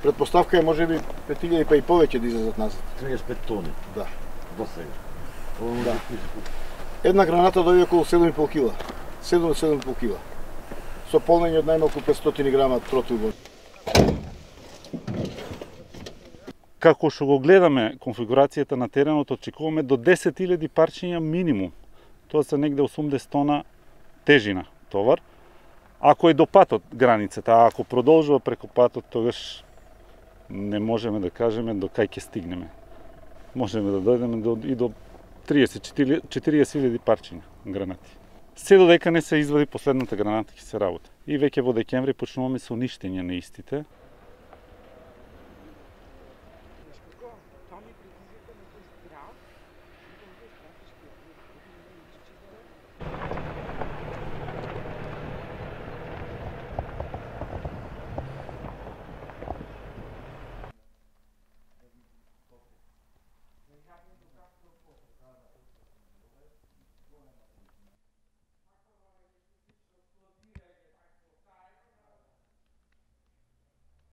Предпоставка е можеби 5000 па и повеќе да излезат назад. 35 тони. Да. До сега. Да. Една граната дојде околу 7,5 кила. 7,5 кила. Со полнење од најмалку 500 грама тротил. Како што го гледаме конфигурацијата на теренот, очекуваме до 10.000 парчиња минимум. Тоа се негде 80 тона тежина товар. Ако е до патот границата, а ако продолжува преку патот, тогаш не можеме да кажеме до кај ќе стигнеме. Можеме да дојдеме и до 30-40.000 парчиња гранати. Се додека не се извади последната граната ќе се работи. И веќе во декември почнуваме со уништење на истите.